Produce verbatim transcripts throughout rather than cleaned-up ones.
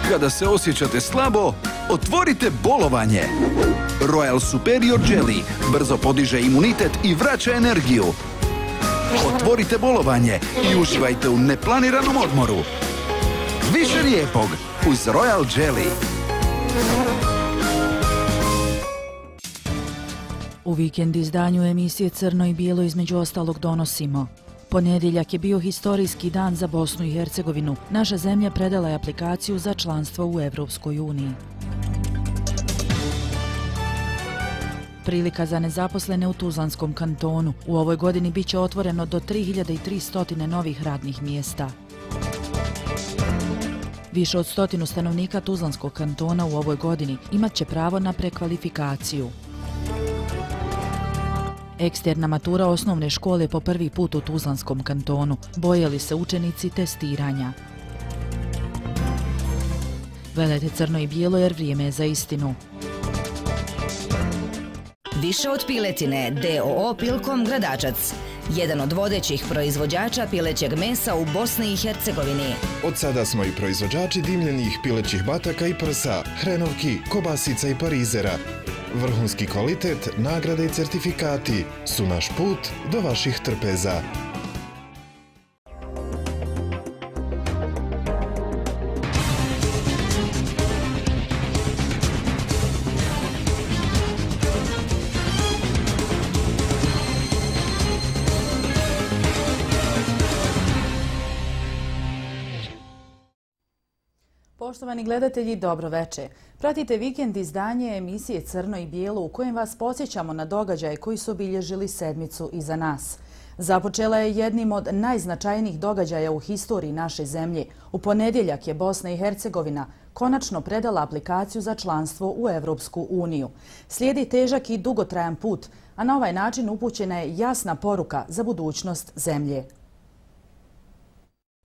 Kada se osjećate slabo, otvorite bolovanje. Royal Superior Jelly brzo podiže imunitet i vraća energiju. Otvorite bolovanje i uživajte u neplaniranom odmoru. Više lijepog uz Royal Jelly. U vikend izdanju emisije Crno i bijelo između ostalog donosimo. Ponedjeljak je bio historijski dan za Bosnu i Hercegovinu. Naša zemlja predala je aplikaciju za članstvo u Evropskoj uniji. Prilika za nezaposlene u Tuzlanskom kantonu. U ovoj godini bit će otvoreno do tri hiljade tristo novih radnih mjesta. Više od stotinu stanovnika Tuzlanskog kantona u ovoj godini imat će pravo na prekvalifikaciju. Eksterna matura osnovne škole po prvi put u Tuzlanskom kantonu. Bojali se učenici testiranja. Gledajte Crno i bijelo jer vrijeme je za istinu. Više od piletine, D O O Pilkom Gradačac. Jedan od vodećih proizvođača pilećeg mesa u Bosni i Hercegovini. Od sada smo i proizvođači dimljenih pilećih bataka i prsa, hrenovki, kobasica i parizera. Vrhunski kvalitet, nagrade i certifikati su naš put do vaših trpeza. Poštovani gledatelji, dobro veče. Pratite vikend izdanje emisije Crno i bijelo u kojem vas podsjećamo na događaje koji su obilježili sedmicu iza nas. Započela je jednim od najznačajnijih događaja u historiji naše zemlje. U ponedjeljak je Bosna i Hercegovina konačno predala aplikaciju za članstvo u Evropsku uniju. Slijedi težak i dugotrajan put, a na ovaj način upućena je jasna poruka za budućnost zemlje.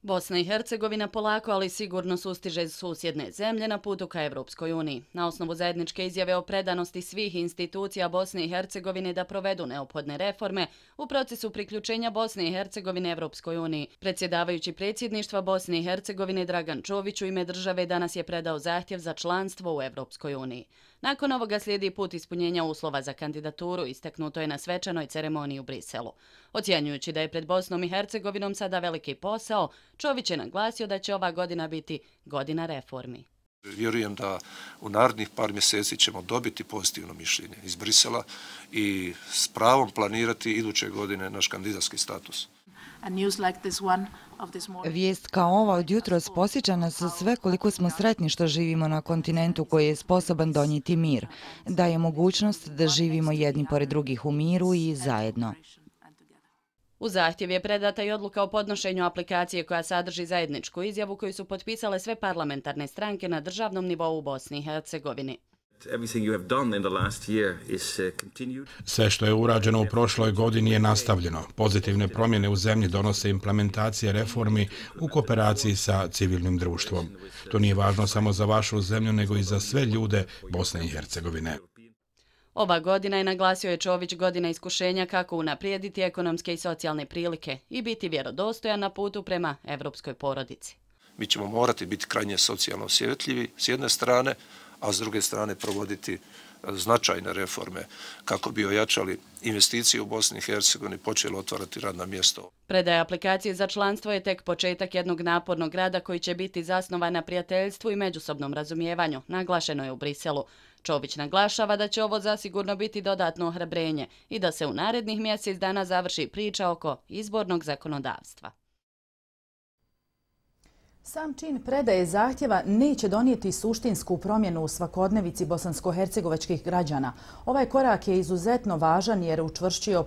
Bosna i Hercegovina polako, ali sigurno sustiže susjedne zemlje na putu ka Evropskoj uniji. Na osnovu zajedničke izjave o predanosti svih institucija Bosne i Hercegovine da provedu neophodne reforme u procesu priključenja Bosne i Hercegovine Evropskoj uniji, predsjedavajući predsjedništva Bosne i Hercegovine Dragan Čović u ime države danas je predao zahtjev za članstvo u Evropskoj uniji. Nakon ovoga slijedi put ispunjenja uslova za kandidaturu, istaknuto je na svečanoj ceremoniji u Briselu. Ocjenjujući da je pred Bosnom i Hercegovinom sada veliki posao, Čović je naglasio da će ova godina biti godina reformi. Vjerujem da u narednih par mjeseci ćemo dobiti pozitivno mišljenje iz Brisela i s pravom planirati iduće godine naš kandidatski status. Vijest kao ova od jutros posjeća nas sve koliko smo sretni što živimo na kontinentu koji je sposoban donijeti mir. Daje mogućnost da živimo jedni pored drugih u miru i zajedno. U zahtjev je predata i odluka o podnošenju aplikacije koja sadrži zajedničku izjavu koju su potpisale sve parlamentarne stranke na državnom nivou u Bosni i Hercegovini. Sve što je urađeno u prošloj godini je nastavljeno. Pozitivne promjene u zemlji donose implementacije reformi u kooperaciji sa civilnim društvom. To nije važno samo za vašu zemlju, nego i za sve ljude Bosne i Hercegovine. Ova godina je, naglasio je Čović, godina iskušenja kako unaprijediti ekonomske i socijalne prilike i biti vjerodostojan na putu prema evropskoj porodici. Mi ćemo morati biti krajnje socijalno osjetljivi s jedne strane, a s druge strane provoditi značajne reforme kako bi ojačali investicije u Bosni i Hercegovini, počeli otvarati radna mjesta. Predaja aplikacije za članstvo je tek početak jednog napornog rada koji će biti zasnovan na prijateljstvu i međusobnom razumijevanju, naglašeno je u Briselu. Čović naglašava da će ovo zasigurno biti dodatno ohrabrenje i da se u narednih mjesec dana završi priča oko izbornog zakonodavstva. Sam čin predaje zahtjeva neće donijeti suštinsku promjenu u svakodnevici bosansko-hercegovačkih građana. Ovaj korak je izuzetno važan jer učvršćuje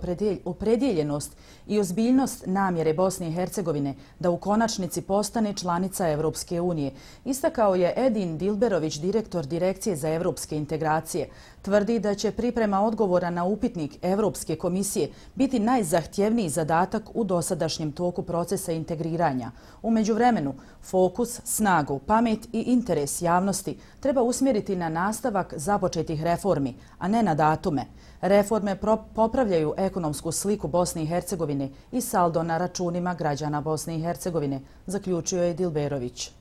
opredjeljenost i ozbiljnost namjere Bosne i Hercegovine da u konačnici postane članica Evropske unije. Istakao je Edin Dilberović, direktor Direkcije za evropske integracije. Tvrdi da će priprema odgovora na upitnik Evropske komisije biti najzahtjevniji zadatak u dosadašnjem toku procesa integriranja. U međuvremenu, fokus, snagu, pamet i interes javnosti treba usmjeriti na nastavak započetih reformi, a ne na datume. Reforme popravljaju ekonomsku sliku Bosne i Hercegovine i saldo na računima građana Bosne i Hercegovine, zaključio je Dilberović.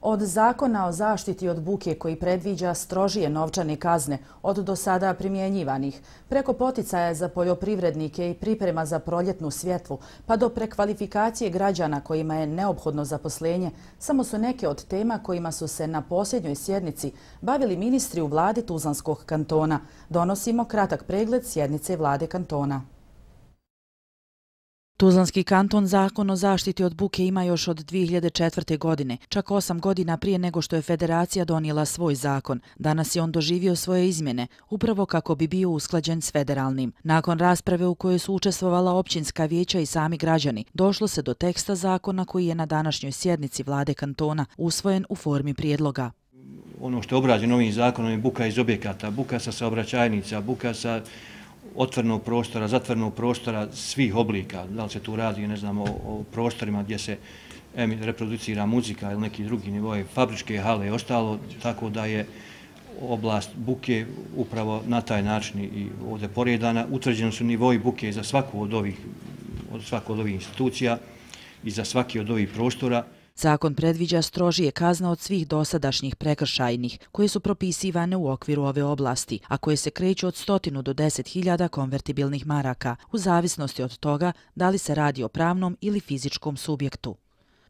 Od zakona o zaštiti od buke koji predviđa strožije novčane kazne od do sada primjenjivanih, preko poticaja za poljoprivrednike i priprema za proljetnu svjetlu, pa do prekvalifikacije građana kojima je neophodno zaposlenje, samo su neke od tema kojima su se na posljednjoj sjednici bavili ministri u vladi Tuzlanskog kantona. Donosimo kratak pregled sjednice vlade kantona. Tuzlanski kanton zakon o zaštiti od buke ima još od dvije hiljade četvrte. godine, čak osam godina prije nego što je federacija donijela svoj zakon. Danas je on doživio svoje izmjene, upravo kako bi bio usklađen s federalnim. Nakon rasprave u kojoj su učestvovala općinska vijeća i sami građani, došlo se do teksta zakona koji je na današnjoj sjednici vlade kantona usvojen u formi prijedloga. Ono što je obrađeno ovim zakonom je buka iz objekata, buka sa saobraćajnica, buka sa otvorenog prostora, zatvorenog prostora svih oblika. Da li se tu radi, ne znam, o, o prostorima gdje se reproducira muzika ili neki drugi nivoje, fabričke hale i ostalo, tako da je oblast buke upravo na taj način i ovdje poredana. Utvrđeni su nivoji buke za svaku od ovih, od svaku od ovih institucija i za svaki od ovih prostora. Zakon predviđa strožije kazne od svih dosadašnjih prekršajnih, koje su propisivane u okviru ove oblasti, a koje se kreću od stotinu do deset hiljada konvertibilnih maraka, u zavisnosti od toga da li se radi o pravnom ili fizičkom subjektu.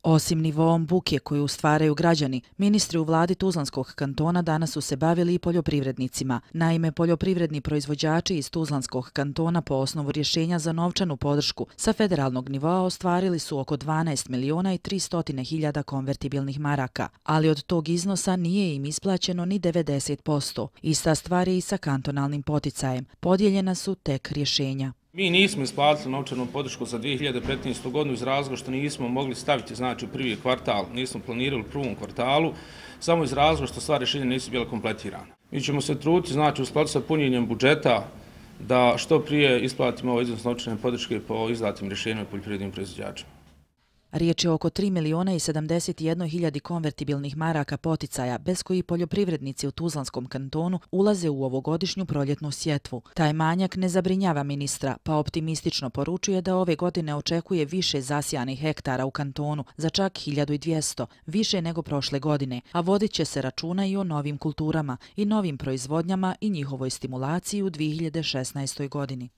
Osim nivoom buke koju stvaraju građani, ministri u vladi Tuzlanskog kantona danas su se bavili i poljoprivrednicima. Naime, poljoprivredni proizvođači iz Tuzlanskog kantona po osnovu rješenja za novčanu podršku sa federalnog nivoa ostvarili su oko dvanaest miliona i tristo hiljada konvertibilnih maraka, ali od tog iznosa nije im isplaćeno ni devedeset posto. Ista stvar je i sa kantonalnim poticajem. Podijeljena su tek rješenja. Mi nismo isplatili novčanu podršku za dvije hiljade petnaestu. godinu iz razloga što nismo mogli staviti, znači, u prvi kvartal, nismo planirali u prvom kvartalu, samo iz razloga što sva rješenja nisu bila kompletirana. Mi ćemo se truditi, znači, u skladu sa punjenjem budžeta da što prije isplatimo ovaj iznos novčane podrške po izdatim rješenjima poljoprivrednim proizvođačima. Riječ je oko tri miliona i sedamdeset jedne hiljade konvertibilnih maraka poticaja, bez koji poljoprivrednici u Tuzlanskom kantonu ulaze u ovogodišnju proljetnu sjetvu. Taj manjak ne zabrinjava ministra, pa optimistično poručuje da ove godine očekuje više zasijanih hektara u kantonu, za čak hiljadu dvjesto, više nego prošle godine, a vodit će se računa i o novim kulturama i novim proizvodnjama i njihovoj stimulaciji u dvije hiljade šesnaestoj. godini.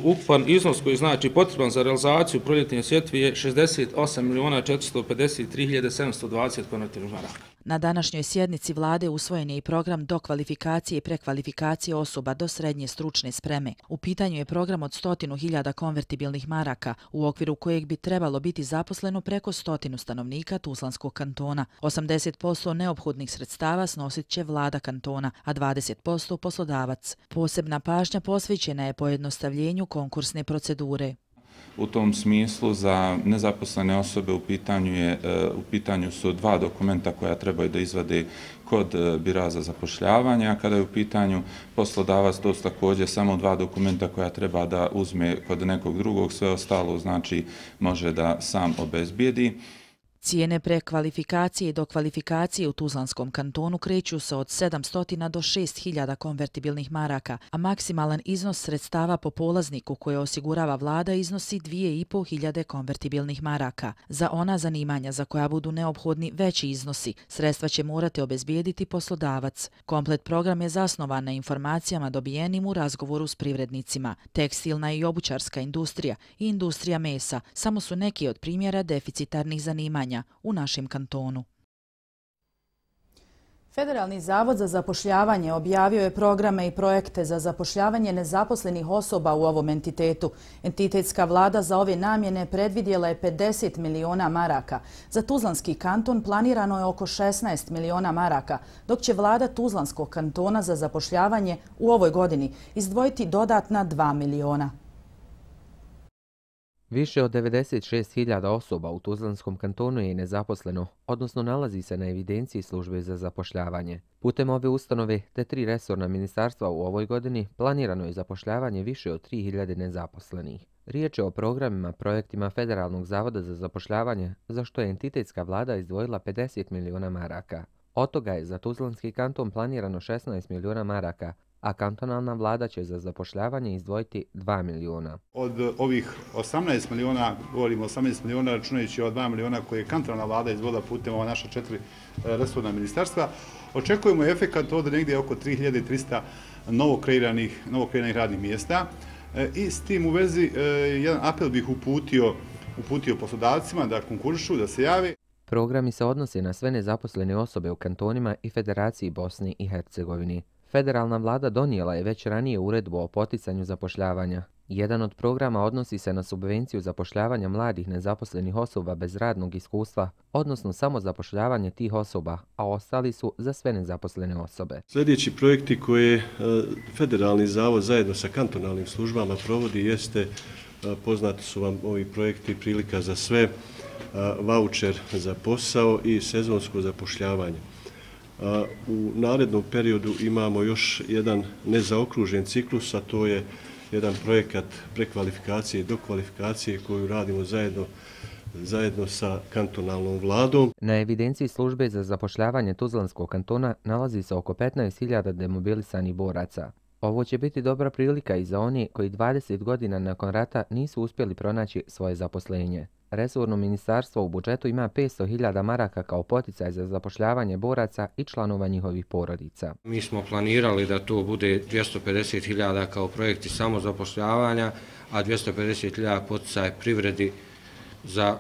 Ukupan iznos koji znači potreban za realizaciju proljetne sjetve je šezdeset osam miliona četiristo pedeset tri hiljade sedamsto dvadeset konvertibilnih maraka. Na današnjoj sjednici vlade usvojen je i program dokvalifikacije i prekvalifikacije osoba do srednje stručne spreme. U pitanju je program od stotinu hiljada konvertibilnih maraka, u okviru kojeg bi trebalo biti zaposleno preko stotinu stanovnika Tuzlanskog kantona. osamdeset posto neophodnih sredstava snosit će vlada kantona, a dvadeset posto poslodavac. Posebna pažnja posvećena je pojednostavljenju konkursne procedure. U tom smislu za nezaposlene osobe u pitanju, je, u pitanju su dva dokumenta koja trebaju da izvade kod bira za zapošljavanje, a kada je u pitanju poslodavac, to su također samo dva dokumenta koja treba da uzme kod nekog drugog, sve ostalo znači može da sam obezbijedi. Cijene prekvalifikacije i dokvalifikacije u Tuzlanskom kantonu kreću se od sedamsto do šest hiljada konvertibilnih maraka, a maksimalan iznos sredstava po polazniku koje osigurava vlada iznosi dvije i pol hiljade konvertibilnih maraka. Za ona zanimanja za koja budu neophodni veći iznosi, sredstva će morati obezbijediti poslodavac. Komplet program je zasnovan na informacijama dobijenim u razgovoru s privrednicima. Tekstilna i obućarska industrija i industrija mesa samo su neki od primjera deficitarnih zanimanja u našem kantonu. Federalni zavod za zapošljavanje objavio je programe i projekte za zapošljavanje nezaposlenih osoba u ovom entitetu. Entitetska vlada za ove namjene predvidjela je pedeset miliona maraka. Za Tuzlanski kanton planirano je oko šesnaest miliona maraka, dok će vlada Tuzlanskog kantona za zapošljavanje u ovoj godini izdvojiti dodatna dva miliona. Više od devedeset šest hiljada osoba u Tuzlanskom kantonu je nezaposleno, odnosno nalazi se na evidenciji službe za zapošljavanje. Putem ove ustanove te tri resorna ministarstva u ovoj godini planirano je zapošljavanje više od tri hiljade nezaposlenih. Riječ je o programima, projektima Federalnog zavoda za zapošljavanje, za što je entitetska vlada izdvojila pedeset miliona maraka. Od toga je za Tuzlanski kanton planirano šesnaest miliona maraka, a kantonalna vlada će za zapošljavanje izdvojiti dva miliona. Od ovih osamnaest miliona, govorimo osamnaest miliona, računajući o dva miliona koje je kantonalna vlada izdvojila putem ova naša četiri resorna ministarstva, očekujemo efekat od negdje oko tri hiljade trista novokreiranih, novokreiranih radnih mjesta. I s tim u vezi jedan apel bih uputio, uputio poslodavcima da konkurišu, da se jave. Programi se odnose na sve nezaposlene osobe u kantonima i Federaciji Bosni i Hercegovini. Federalna vlada donijela je već ranije uredbu o poticanju zapošljavanja. Jedan od programa odnosi se na subvenciju zapošljavanja mladih nezaposlenih osoba bez radnog iskustva, odnosno samo zapošljavanje tih osoba, a ostali su za sve nezaposlene osobe. Sljedeći projekti koje Federalni zavod zajedno sa kantonalnim službama provodi jeste, poznati su vam ovi projekti Prilika za sve, vaučer za posao i sezonsko zapošljavanje. U narednom periodu imamo još jedan nezaokružen ciklus, a to je jedan projekat prekvalifikacije i dokvalifikacije koju radimo zajedno, zajedno sa kantonalnom vladom. Na evidenciji službe za zapošljavanje Tuzlanskog kantona nalazi se oko petnaest hiljada demobilisanih boraca. Ovo će biti dobra prilika i za oni koji dvadeset godina nakon rata nisu uspjeli pronaći svoje zaposlenje. Resorno ministarstvo u budžetu ima petsto hiljada maraka kao poticaj za zapošljavanje boraca i članova njihovih porodica. Mi smo planirali da to bude dvjesto pedeset hiljada kao projekti samozapošljavanja, a dvjesto pedeset hiljada poticaj privredi za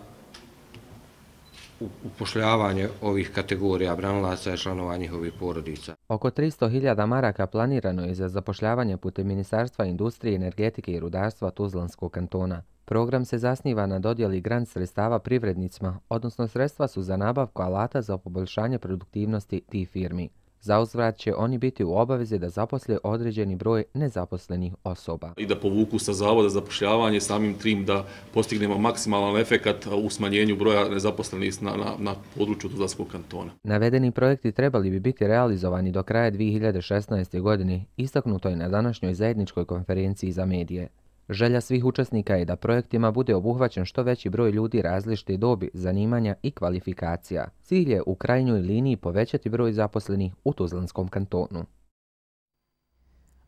upošljavanje ovih kategorija branilaca i članova njihovih porodica. Oko tristo hiljada maraka planirano je za zapošljavanje putem Ministarstva industrije, energetike i rudarstva Tuzlanskog kantona. Program se zasniva na dodjeli grant sredstava privrednicima, odnosno sredstva su za nabavku alata za poboljšanje produktivnosti tih firmi. Zauzvrat će oni biti u obavezi da zaposle određeni broj nezaposlenih osoba. I da povuku sa zavoda za zapošljavanje samim tim da postignemo maksimalan efekat u smanjenju broja nezaposlenih na, na, na području Tuzlanskog kantona. Navedeni projekti trebali bi biti realizovani do kraja dvije hiljade šesnaeste. godine, istaknuto je na današnjoj zajedničkoj konferenciji za medije. Želja svih učesnika je da projektima bude obuhvaćen što veći broj ljudi različite dobi, zanimanja i kvalifikacija. Cilj je u krajnjoj liniji povećati broj zaposlenih u Tuzlanskom kantonu.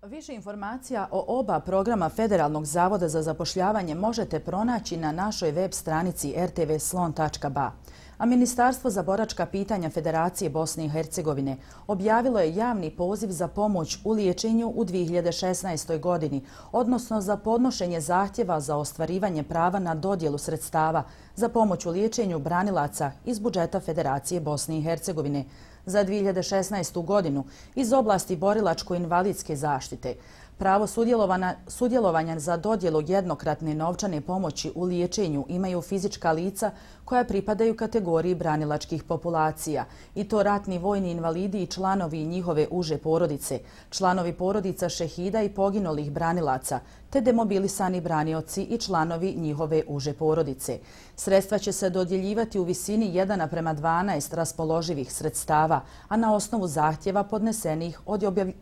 Više informacija o oba programa Federalnog zavoda za zapošljavanje možete pronaći na našoj web stranici r t v slon tačka b a. A Ministarstvo za boračka pitanja Federacije Bosne i Hercegovine objavilo je javni poziv za pomoć u liječenju u dvije hiljade šesnaestoj. godini, odnosno za podnošenje zahtjeva za ostvarivanje prava na dodjelu sredstava za pomoć u liječenju branilaca iz budžeta Federacije Bosne i Hercegovine za dvije hiljade šesnaestu. godinu iz oblasti borilačko-invalidske zaštite. Pravo sudjelovanja za dodjelu jednokratne novčane pomoći u liječenju imaju fizička lica koja pripadaju kategoriji branilačkih populacija, i to ratni vojni invalidi i članovi njihove uže porodice, članovi porodica šehida i poginulih branilaca, te demobilisani branioci i članovi njihove uže porodice. Sredstva će se dodjeljivati u visini jedan naprema dvanaest raspoloživih sredstava, a na osnovu zahtjeva podnesenih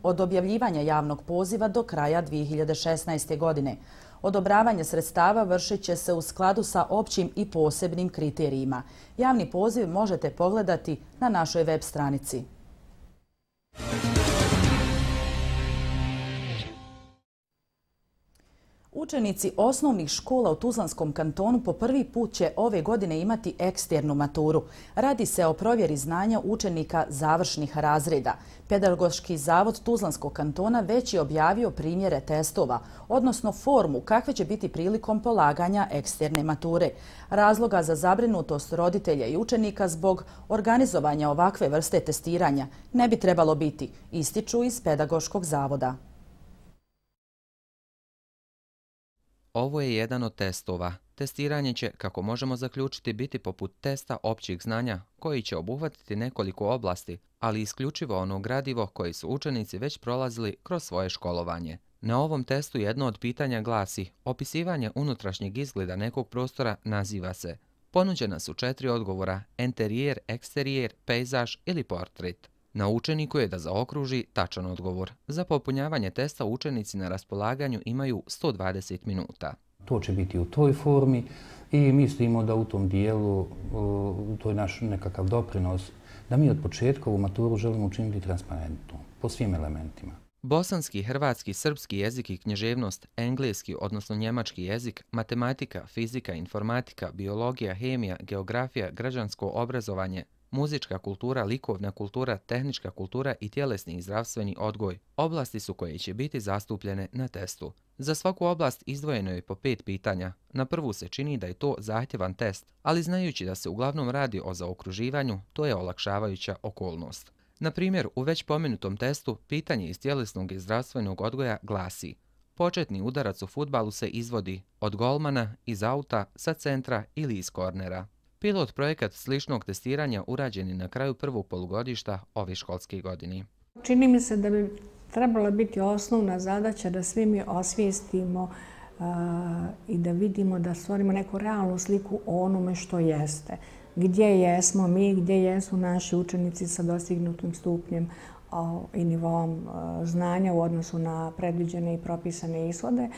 od objavljivanja javnog poziva do kraja dvije hiljade šesnaeste. godine. Odobravanje sredstava vršit će se u skladu sa općim i posebnim kriterijima. Javni poziv možete pogledati na našoj web stranici. Učenici osnovnih škola u Tuzlanskom kantonu po prvi put će ove godine imati eksternu maturu. Radi se o provjeri znanja učenika završnih razreda. Pedagoški zavod Tuzlanskog kantona već je objavio primjere testova, odnosno formu kakve će biti prilikom polaganja eksterne mature. Razloga za zabrinutost roditelja i učenika zbog organizovanja ovakve vrste testiranja ne bi trebalo biti, ističu iz Pedagoškog zavoda. Ovo je jedan od testova. Testiranje će, kako možemo zaključiti, biti poput testa općih znanja, koji će obuhvatiti nekoliko oblasti, ali isključivo ono gradivo koje su učenici već prolazili kroz svoje školovanje. Na ovom testu jedno od pitanja glasi: opisivanje unutrašnjeg izgleda nekog prostora naziva se. Ponuđena su četiri odgovora: enterijer, eksterijer, pejzaž ili portret. Na učeniku je da zaokruži tačan odgovor. Za popunjavanje testa učenici na raspolaganju imaju sto dvadeset minuta. To će biti u toj formi i mislimo da u tom dijelu, to je naš nekakav doprinos, da mi od početka ovu maturu želimo učiniti transparentnu po svim elementima. Bosanski, hrvatski, srpski jezik i književnost, engleski, odnosno njemački jezik, matematika, fizika, informatika, biologija, hemija, geografija, građansko obrazovanje, muzička kultura, likovna kultura, tehnička kultura i tjelesni i zdravstveni odgoj oblasti su koje će biti zastupljene na testu. Za svaku oblast izdvojeno je po pet pitanja. Na prvu se čini da je to zahtjevan test, ali znajući da se uglavnom radi o zaokruživanju, to je olakšavajuća okolnost. Na primjer, u već pomenutom testu pitanje iz tjelesnog i zdravstvenog odgoja glasi: početni udarac u fudbalu se izvodi od golmana, iz auta, sa centra ili iz kornera. Pilot projekat sličnog testiranja urađen je na kraju prvog polugodišta ove školske godine. Čini mi se da bi trebala biti osnovna zadaća da svi mi osvijestimo uh, i da vidimo, da stvorimo neku realnu sliku o onome što jeste. Gdje jesmo mi, gdje jesu naši učenici sa dostignutim stupnjem uh, i nivom uh, znanja u odnosu na predviđene i propisane ishode,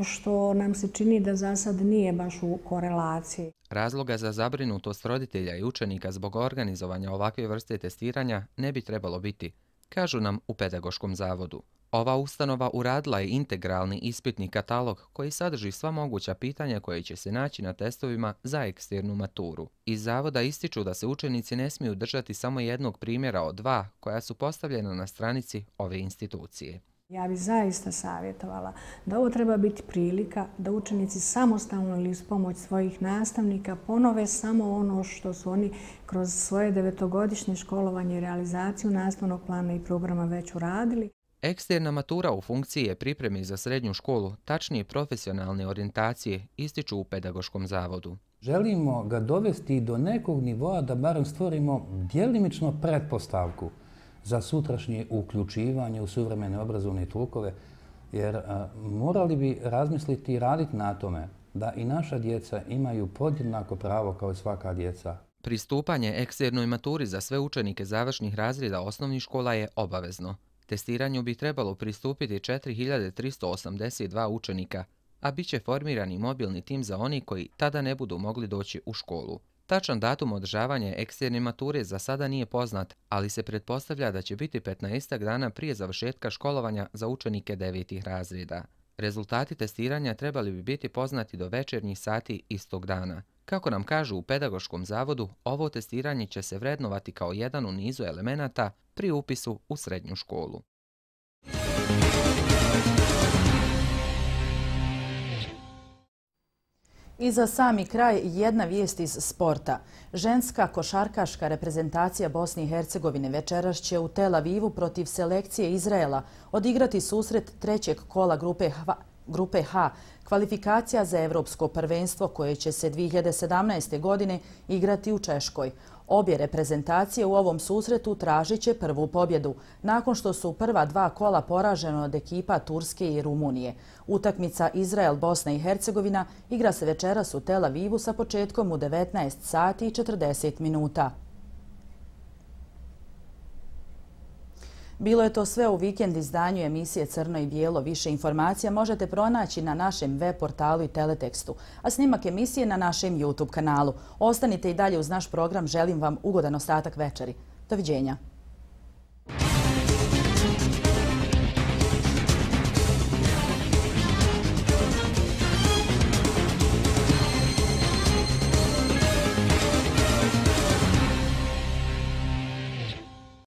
što nam se čini da za sad nije baš u korelaciji. Razloga za zabrinutost roditelja i učenika zbog organizovanja ovakve vrste testiranja ne bi trebalo biti, kažu nam u Pedagoškom zavodu. Ova ustanova uradila je integralni ispitni katalog koji sadrži sva moguća pitanja koje će se naći na testovima za eksternu maturu. Iz zavoda ističu da se učenici ne smiju držati samo jednog primjera od dva koja su postavljena na stranici ove institucije. Ja bih zaista savjetovala da ovo treba biti prilika da učenici samostalno ili uz pomoć svojih nastavnika ponove samo ono što su oni kroz svoje devetogodišnje školovanje i realizaciju nastavnog plana i programa već uradili. Eksterna matura u funkciji je pripremi za srednju školu, tačnije profesionalne orijentacije, ističu u Pedagoškom zavodu. Želimo ga dovesti do nekog nivoa da barem stvorimo djelimično pretpostavku za sutrašnje uključivanje u suvremene obrazovne tokove, jer a, morali bi razmisliti i raditi na tome da i naša djeca imaju podjednako pravo kao i svaka djeca. Pristupanje eksternoj maturi za sve učenike završnih razreda osnovnih škola je obavezno. Testiranju bi trebalo pristupiti četiri hiljade tristo osamdeset dva učenika, a bit će formirani mobilni tim za oni koji tada ne budu mogli doći u školu. Tačan datum održavanja eksterne mature za sada nije poznat, ali se pretpostavlja da će biti petnaestak dana prije završetka školovanja za učenike devetih razreda. Rezultati testiranja trebali bi biti poznati do večernjih sati istog dana. Kako nam kažu u Pedagoškom zavodu, ovo testiranje će se vrednovati kao jedan u nizu elemenata pri upisu u srednju školu. I za sami kraj jedna vijest iz sporta. Ženska košarkaška reprezentacija Bosne i Hercegovine večeras će u Tel Avivu protiv selekcije Izraela odigrati susret trećeg kola grupe H, grupe H, kvalifikacija za Evropsko prvenstvo koje će se dvije hiljade sedamnaeste. godine igrati u Češkoj. Obje reprezentacije u ovom susretu tražit će prvu pobjedu, nakon što su prva dva kola poraženo od ekipa Turske i Rumunije. Utakmica Izrael-Bosna i Hercegovina igra se večeras u Tel Avivu sa početkom u devetnaest sati i četrdeset minuta. Bilo je to sve u vikend izdanju emisije Crno i bijelo. Više informacija možete pronaći na našem web portalu i teletekstu, a snimak emisije na našem YouTube kanalu. Ostanite i dalje uz naš program. Želim vam ugodan ostatak večeri. Doviđenja.